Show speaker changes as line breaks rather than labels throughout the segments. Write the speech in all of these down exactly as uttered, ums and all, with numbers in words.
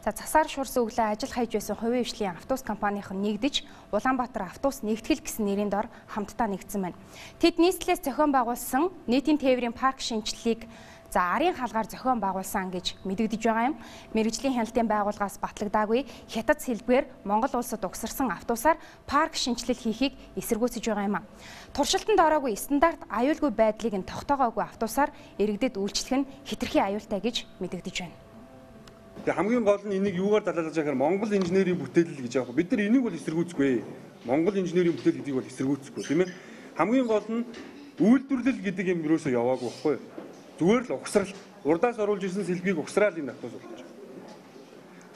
За засаар шуурсан өглөө ажил хайж байсан хувийн хвшлийн автобус компанийн нэгдэж Улаанбаатар автобус нэгтгэл гэсэн нэрийн дор хамтдаа нэгдсэн байна. Тэд нийслэлээс зохион байгуулсан нийтийн тээврийн парк шинжилгээг за арын хаалгаар зохион байгуулсан гэж мэдэгдэж байгаа юм. Мэргэжлийн хяналтын байгууллагаас батлагдаагүй хятад сэлбгээр Монгол улсад угсарсан автобусаар парк шинжилэл хийхийг эсэргүүцэж байгаа юм а. Туршилтанд ороогүй стандарт аюулгүй байдлыг нь тогтоогоогүй автобусаар иргэдэд үйлчлэх нь хэтэрхий аюултай гэж мэдэгдэж байна.
Тэгээ хамгийн гол нь энийг юугаар далайлаж байгаа Монгол инженерийн бүтээлэл гэж байгаа. Бид нар энийг бол эсэргүүцгүй. Монгол инженерийн бүтээл гэдгийг бол эсэргүүцгүй тийм ээ. Хамгийн гол нь үйлдвэрлэл гэдэг юм юусоо яваагүй байхгүй. Зүгээр л угсрал урдаас оруулж ирсэн сэлбгийг угсраал энэ автобус болж байгаа.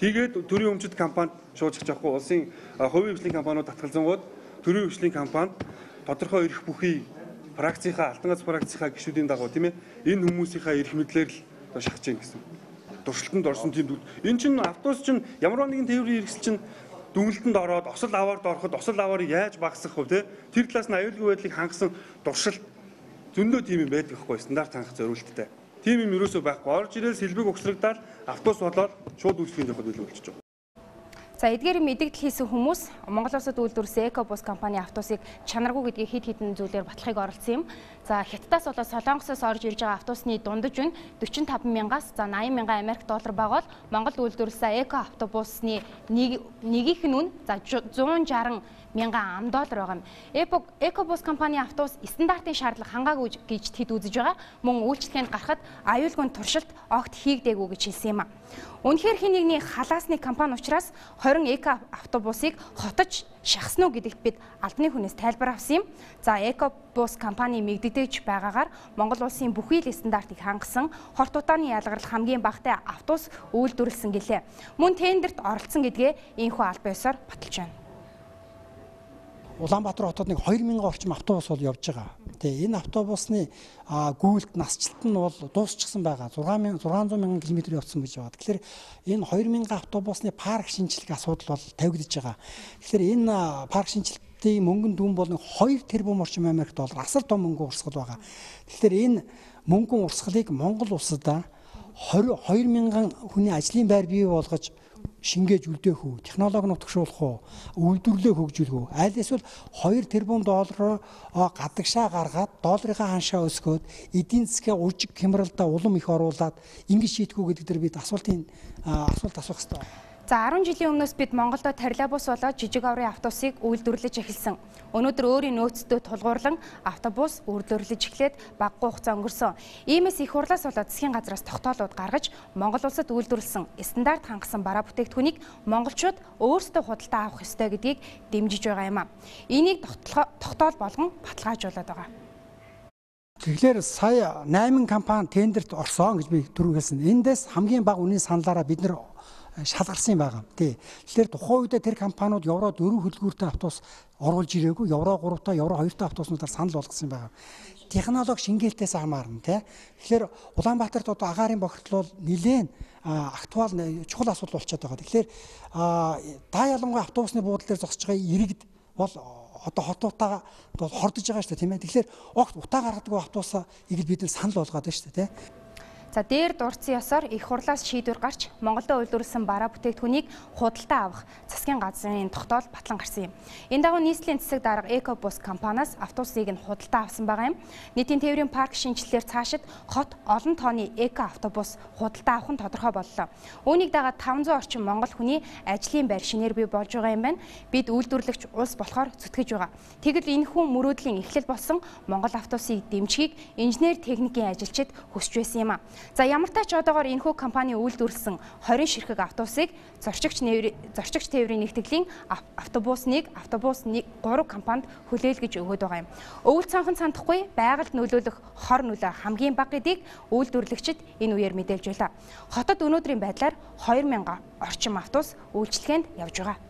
Тэгээд төрийн өмчит компанид шуужчих жахгүй улсын хувийн хвшлийн компаниуд татгалзангууд төрийн хвшлийн компанид тодорхой эрх бүхий практикийнхаа алтан гац практикийнхаа гишүүдийн дагуу тийм ээ энэ хүмүүсийнхаа эрх мэдлэр л шахаж гин гэсэн. Туршилтанд орсон тийм энэ чинь автобус чинь ямар нэгэн тээврийн хэрэгсэл чинь дүнэлтэнд ороод осол аваард ороход осол аваарыг яаж багасгах вэ тэр талаас нь аюулгүй байдлыг хангасан туршилт зөндөө тийм юм байдаг хгүй стандарт хангах зориулттай. Тийм юм юусоо байхгүй орж ирэл сэлбэг угсрагдаад автобус болоод шууд үйлчлэгийн явахд илүү болчихж байгаа.
За эдгээр мэдээлэл хийсэн хүмүүс Монгол улсад үйлдвэрсэн Экобус компани автобусыг чанаргүй гэдгийг хэд хэдэн зүйлээр батлахыг оролцсон юм. За Хятадаас болоод Солонгосоос орж ирж байгаа автобусны дундаж үн дөрвөн таван мянгаас за найман мянган Америк доллар байгаа бол Монголд үйлдвэрлэсэн Эко автобусны нэг нэгийнх нь үн за зуун жарган мянган ам доллар байгаа юм. Экобус компани автобус стандартын шаардлага хангаагүй гэж тэд үзэж байгаа. Мөн үйлчлэгэнд гарахад аюулгүй туршилт огт хийгдээгүй гэж хэлсэн юм а. Үнэхээр хин нэгний халаасны компани учраас хорин эко автобусыг хотож шахсан уу гэдэгт бид албаны хүнээс тайлбар авсан юм. За Экобус компани мэгдэж байгаагаар Монгол улсын бүхий л стандартыг хангасан хорт утааны ялгарл хамгийн багатай автобус үйлдвэрлэсэн гэлээ. Мөн тендерт оролцсон гэдгээ энэхүү албан ёсоор баталж байна.
Улаанбаатар хотод нэг хоёр мянган орчим автобус бол явж байгаа. Тэгээ энэ автобусны гүйлт насжилт нь бол дуусчихсан байгаа. зургаан зуун мянган км явцсан гэж байна. Тэгэхээр энэ хоёр мянган автобусны парк шинжилгээ асуудал бол тавигдж байгаа. Тэгэхээр энэ парк шинжилтийн мөнгөнд дүн бол хоёр тэрбум орчим Америк доллар асар том мөнгө урсгал байгаа. Тэгэхээр энэ мөнгөн урсгалыг Монгол улсад хоёр мянган хүний ажлын байр бий болгож шингээж үлдээх үү, технологи нутагшуулах уу, үйлдвэрлэлээ хөгжүүлэх үү. Аль эсвэл хоёр тэрбум доллараар гадагшаа гаргаад долларынхаа ханшаа өсгөөд эдийн засгийн уржиг хямралдаа улам их оруулаад ингэж шийтгэв гэдэг дээр бид асуултын асуулт асуух хэрэгтэй.
За арван жилийн өмнөөс бид Монголдо троллейбус болоод жижиг аврын автобусыг үйлдвэрлэж эхэлсэн. Өнөөдөр өөрийн нөөцтэй тулгуурлан автобус үйлдвэрлэж эхлээд багагүй хугацаа өнгөрсөн. Иймээс их хурлаас болоод засгийн газраас тогтоолууд гаргаж Монгол улсад үйлдвэрлэсэн стандарт хангасан бараа бүтээгдэхүүнийг монголчууд өөрсдөө худалдаа авах ёстой гэдгийг дэмжиж байгаа юм а. Энийг тогтоол болгон баталгаажуулаад байгаа.
Тэгэхээр сая найман компани тендерт орсон гэж би түрүү хэлсэн. Эндээс хамгийн бага үнийн саналаараа бид нэр шалгарсан юм байгаа. Тий. Тэгэхээр тухайн үедээ тэр компаниуд евро дөрвөн хөдөлгүүртэй автобус оруулж ирээгүй, евро гурав та, евро хоёр та автобуснуудаар санал болгосон юм байгаа. Технологи шингээлтээс хамаарна тий. Тэгэхээр Улаанбаатарт одоо агаарын бохирдол бол нэлээд актуал чухал асуудал болчиход байгаа. Тэгэхээр даа ялангуяа автобусны буудлын дээр зогсож байгаа иргэд бол одоо хотуудаа хордож байгаа шүү дээ тийм ээ. Тэгэхээр огт утаа гаргадаг автобусаа игэл бид нар санал болгоод байна шүү дээ тий.
За дээр дурдсан ёсоор их хурлаас шийдвэр гарч Монголдо үйлдвэрлэсэн бараа бүтээгдэхүүнийг худалдаа авах засгийн газрын тогтоол батлан гарсан юм. Энэ дагуу нийслэлийн засаг дарга Экобус компаниас автобусыг нь худалдаа авсан байгаа юм. Нийтийн тээврийн парк шинжилэлээр цаашид хот олон тооны эко автобус худалдаа авах нь тодорхой боллоо. Үүнийг дагаад таван зуун орчим монгол хүний ажлын байр шинээр бий болж байгаа юм байна. Бид үйлдвэрлэгч улс болохоор зүтгэж байгаа. Тэгвэл энэ хүн мөрөөдлийн эхлэл болсон Монгол автобусыг дэмжихийг инженер техникийн ажилчид хүсэж байсан юм а. За ямар ч тач одоогоор энэхүү компани үйлдвэрлэсэн хорин ширхэг автобусыг зорчигч зорчигч тээврийн нэгтгэлийн автобусныг автобус гурав компанид хүлээлгэж өгöd байгаа юм. Өвөл цонхон сандахгүй байгальд нөлөөлөх хор нөлөө хамгийн бага гэдгийг үйлдвэрлэгчид энэ үеэр мэдээлж байлаа. Хотод өнөөдрийн байдлаар хоёр мянган орчим автобус үйлчлэгээнд явж байгаа.